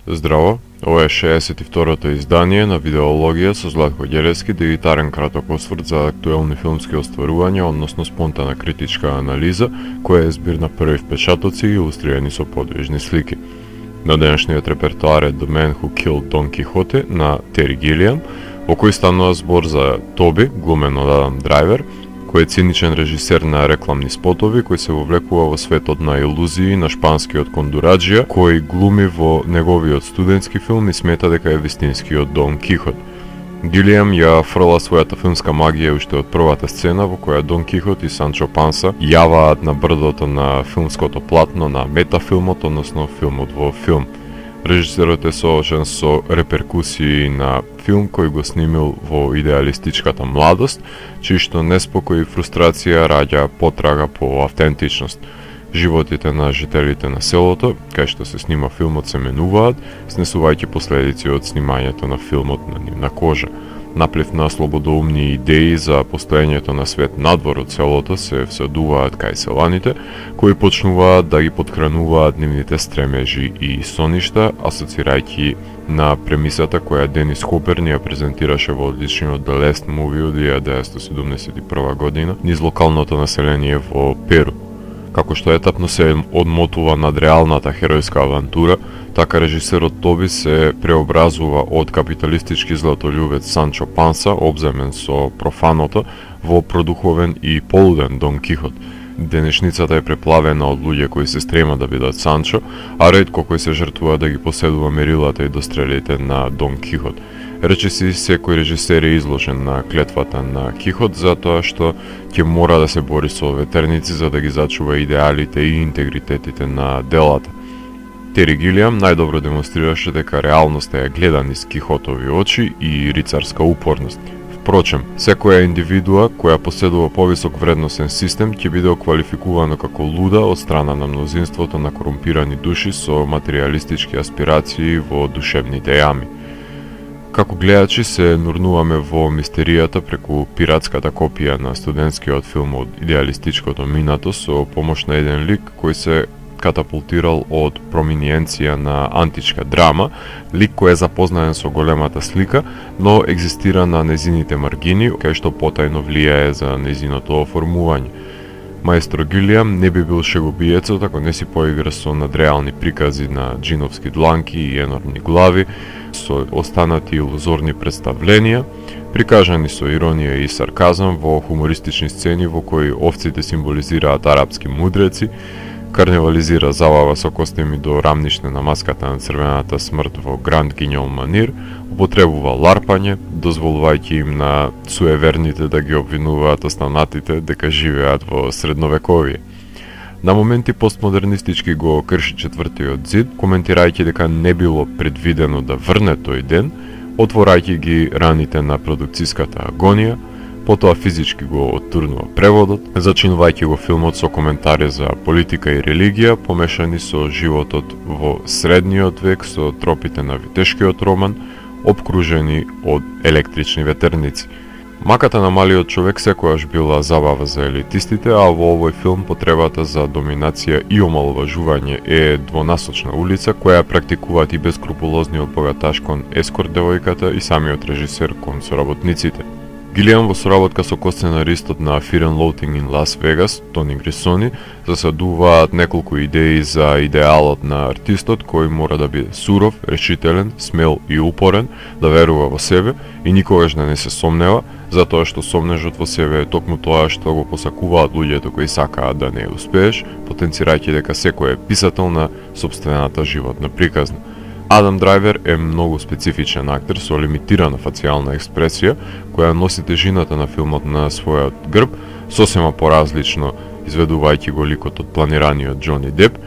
Здраво, ова е 62-то издание на Видеологија со Златко Ѓелевски, дигитарен краток осврт за актуелни филмски остварувања, односно спонтана критичка анализа, која е збир на први впечатоци илустрирани со подвижни слики. На денешниот репертоар е The Man Who Killed Don Quixote на Тери Гилиам, во кој станува збор за Тоби, глумен од Адам Драйвер, кој е циничен режисер на рекламни спотови, кој се вовлекува во светот на илузии на шпанскиот кондураджија, кој глуми во неговиот студентски филм и смета дека е вистинскиот Дон Кихот. Гилиам ја фрла својата филмска магија уште од првата сцена во која Дон Кихот и Санчо Панса јаваат на брдото на филмското платно на метафилмот, односно филмот во филм. Режисерот е соочен со реперкусии на филм кој го снимил во идеалистичката младост, чиј што неспокој и фрустрација раѓа потрага по автентичност. Животите на жителите на селото, кај што се снима филмот, се менуваат, снесувајќи последици од снимањето на филмот на нивна кожа. Наплив на слободоумни идеи за постоењето на свет надвор од селото се всадуваат кај селаните, кои почнуваат да ги поткрануваат нивните стремежи и соништа, асоцирајќи на премисата која Денис Хопер ни ја презентираше во одличниот The Last Movie од 1971 година низ локалното население во Перу. Како што етапно се одмотува над реалната херојска авантура, така режисерот Тоби се преобразува од капиталистички златолюбец Санчо Панса, обземен со профаното, во продуховен и полуден Дон Кихот. Денешницата е преплавена од луѓе кои се стрема да бидат Санчо, а ретко кој се жртвува да ги поседува мерилата и дострелите на Дон Кихот. Речиси секој режисер е изложен на клетвата на Кихот затоа што ќе мора да се бори со ветерници за да ги зачува идеалите и интегритетите на делата. Тери Гилиам најдобро демонстрираше дека реалноста ја гледа низ Кихотови очи и рицарска упорност. Впрочем, секоја индивидуа која поседува повисок вредносен систем ќе биде оквалификувано како луда од страна на мнозинството на корумпирани души со материјалистички аспирации во душевните јами. Како гледачи се нурнуваме во мистеријата преку пиратската копија на студентскиот филм од идеалистичкото минато со помош на еден лик кој се катапултирал од проминенција на античка драма, лик кој е запознаен со големата слика, но екзистира на незините маргини, кај што потајно влијае за незиното оформување. Маестро Гилиам не би бил шегобиецот ако не си поигра со надреални прикази на джиновски дланки и енормни глави, со останати илузорни представленија, прикажани со иронија и сарказам во хумористични сцени во кои овците символизираат арапски мудреци, карневализира забава со костими до рамнишне на маската на црвената смрт во Гранд Гиньол манир, употребува ларпање, дозволувајќи им на суеверните да ги обвинуваат останатите дека живеат во средновековие. На моменти постмодернистички го крши четвртиот зид, коментирајќи дека не било предвидено да врне тој ден, отворајќи ги раните на продукцијската агонија, потоа физички го оттурнува преводот, зачинувајќи го филмот со коментари за политика и религија, помешани со животот во средниот век, со тропите на витешкиот роман, обкружени од електрични ветерници. Маката на малиот човек секојаш била забава за елитистите, а во овој филм потребата за доминација и омаловажување е двонасочна улица која практикуваат и бескрупулозниот богаташ кон ескорт девојката и самиот режисер кон соработниците. Гилиам во соработка со косценаристот на Fear and Loathing in Las Vegas, Тони Грисони, засадуваат неколку идеи за идеалот на артистот кој мора да биде суров, решителен, смел и упорен, да верува во себе и никогаш да не се сомнева, затоа што сомнежот во себе е токму тоа што го посакуваат луѓето кои сакаат да не успееш, потенцирајќи дека секој е писател на сопствената животна приказна. Адам Драйвер е многу специфичен актер со лимитирана фацијална експресија, која носи тежината на филмот на својот грб, сосема поразлично изведувајќи го ликот од планираниот Џони Деп,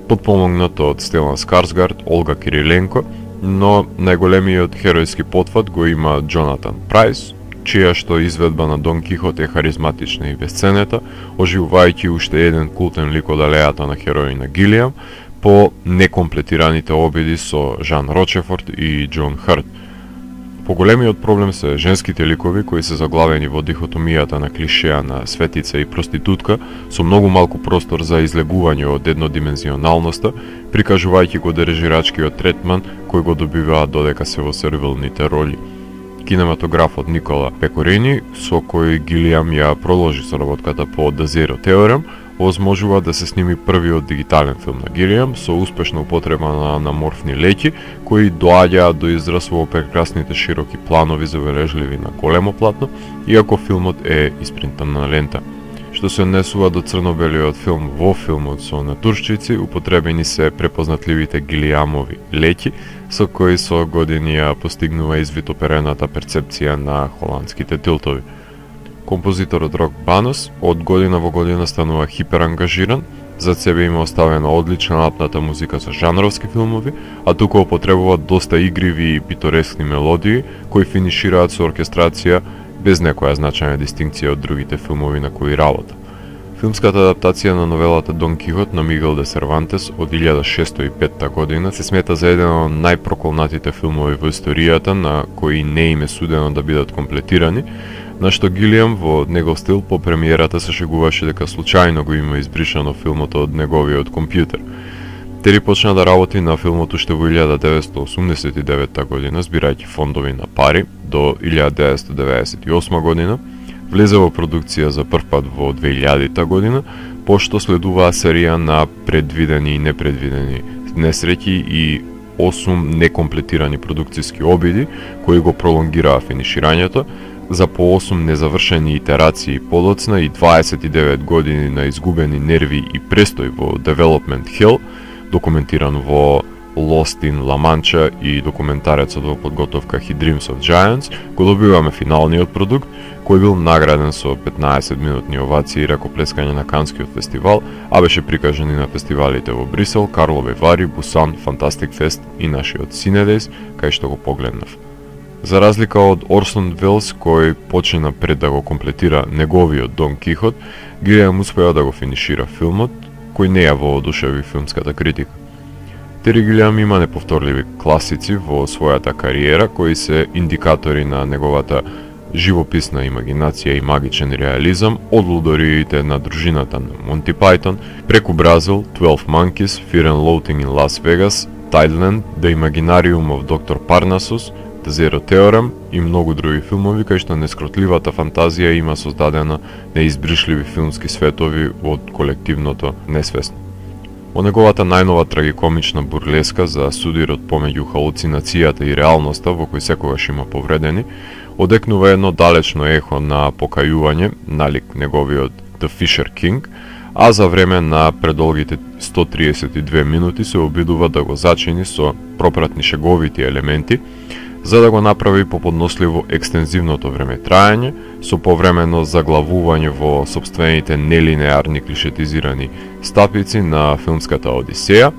подпомогнато од Стелан Скарсгард, Олга Кириленко, но најголемиот херојски потфат го има Джонатан Прайс, чија што изведба на Дон Кихот е харизматична и безценета, оживувајќи уште еден култен лик од алејата на хероина Гилиам, по некомплетираните обиди со Жан Рочефорд и Џон Харт. Поголемиот проблем се женските ликови кои се заглавени во дихотомијата на клишеа на светица и проститутка со многу малку простор за излегување од еднодимензионалноста, прикажувајќи го дирижирачкиот третман кој го добиваат додека се во сервилните роли. Кинематографот Никола Пекорини, со кој Гилиам ја продолжи соработката по The Zero Theorem, овозможува да се сними првиот дигитален филм на Гилиам со успешна употреба на анаморфни леќи кои доаѓаат до израз во прекрасните широки планови забележливи на големо платно, иако филмот е испринтан на лента. Што се однесува до црно-белиот филм, во филмот со натуршчици употребени се препознатливите Гилиамови леќи, со кои со години ја постигнува извитоперената перцепција на холандските тилтови. Композиторот Рок Банос од година во година станува хиперангажиран, зад себе има оставена одлична напната музика за жанровски филмови, а тука употребува доста игриви и питорескни мелодии, кои финишираат со оркестрација без некоја значајна дистинкција од другите филмови на кои работа. Филмската адаптација на новелата Дон Кихот на Мигел де Сервантес од 1605 година се смета за еден од најпроколнатите филмови во историјата на кои не им е судено да бидат комплетирани, на што Гилиам во негов стил по премиерата се шегуваше дека случајно го има избришано филмот од неговиот компјутер. Тери почна да работи на филмот уште во 1989 година, збирајќи фондови на пари, до 1998 година, влезе во продукција за прв пат во 2000 година, пошто следуваа серија на предвидени и непредвидени несреќи и 8 некомплетирани продукциски обиди, кои го пролонгираа финиширањето, за по 8 незавршени итерации подоцна и 29 години на изгубени нерви и престој во Development Hell, документиран во Lost in La Mancha и документарецот во подготовка He Dreams of Giants, го добиваме финалниот продукт, кој бил награден со 15 минутни овации и ракоплескање на Канскиот фестивал, а беше прикажан и на фестивалите во Брисел, Карлове Вари, Бусан, Fantastic Fest и нашиот Cinedejs, кај што го погледнав. За разлика од Орсон Велс, кој почина пред да го комплетира неговиот Дон Кихот, Гилиам успеа да го финишира филмот, кој не ја воодушеви филмската критика. Тери Гилиам има неповторливи класици во својата кариера, кои се индикатори на неговата живописна имагинација и магичен реализам, од лудориите на дружината на Монти Пајтон, преку Бразил, 12 Monkeys, Fear and Loathing in Las Vegas, Tideland, The Imaginarium of Dr. Parnassus, The Zero Theorem и многу други филмови кај што нескротливата фантазија има создадена неизбришливи филмски светови од колективното несвесно. Во неговата најнова трагикомична бурлеска за судирот помеѓу халуцинацијата и реалноста во кој секогаш има повредени, одекнува едно далечно ехо на покајување, налик неговиот The Fisher King, а за време на предолгите 132 минути се обидува да го зачини со пропратни шеговити елементи, за да го направи поподносливо екстензивното време трајање, со повремено заглавување во сопствените нелинеарни клишетизирани стапици на филмската Одисеја,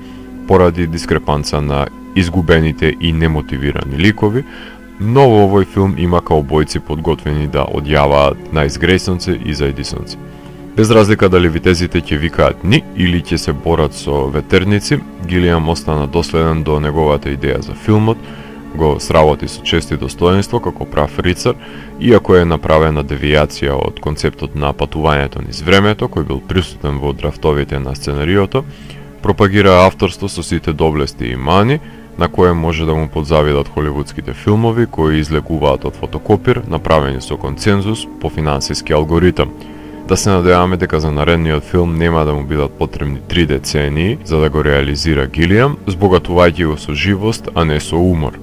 поради дискрепанца на изгубените и немотивирани ликови, но во овој филм има каубојци подготвени да одјаваат на изгресонци и зајдисонци. Без разлика дали витезите ќе викаат ни или ќе се борат со ветерници, Гилиам остана доследен до неговата идеја за филмот, го сработи со чест и достоинство како прав рицар, иако е направена девијација од концептот на патувањето низ времето, кој бил присутен во драфтовите на сценариото, пропагира авторство со сите доблести и мани, на кое може да му подзавидат холивудските филмови кои излегуваат од фотокопир, направени со концензус по финансиски алгоритам. Да се надеваме дека за наредниот филм нема да му бидат потребни 3 децении за да го реализира Гилиам, збогатувајќи го со живост, а не со умор.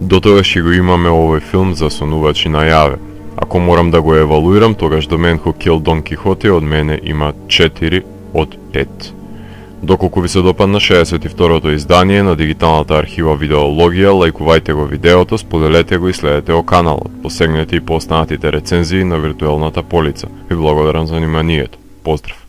До тогаш ќе го имаме овој филм за сонувачи најаве. Ако морам да го евалуирам, тогаш The Man Who Killed Don Quixote од мене има 4 од 5. Доколку ви се допадна 62-то издание на дигиталната архива Видеологија, лајкувајте го видеото, споделете го и следете го каналот. Посегнете и по останатите рецензии на виртуелната полица. Ви благодарам за вниманието. Поздрав!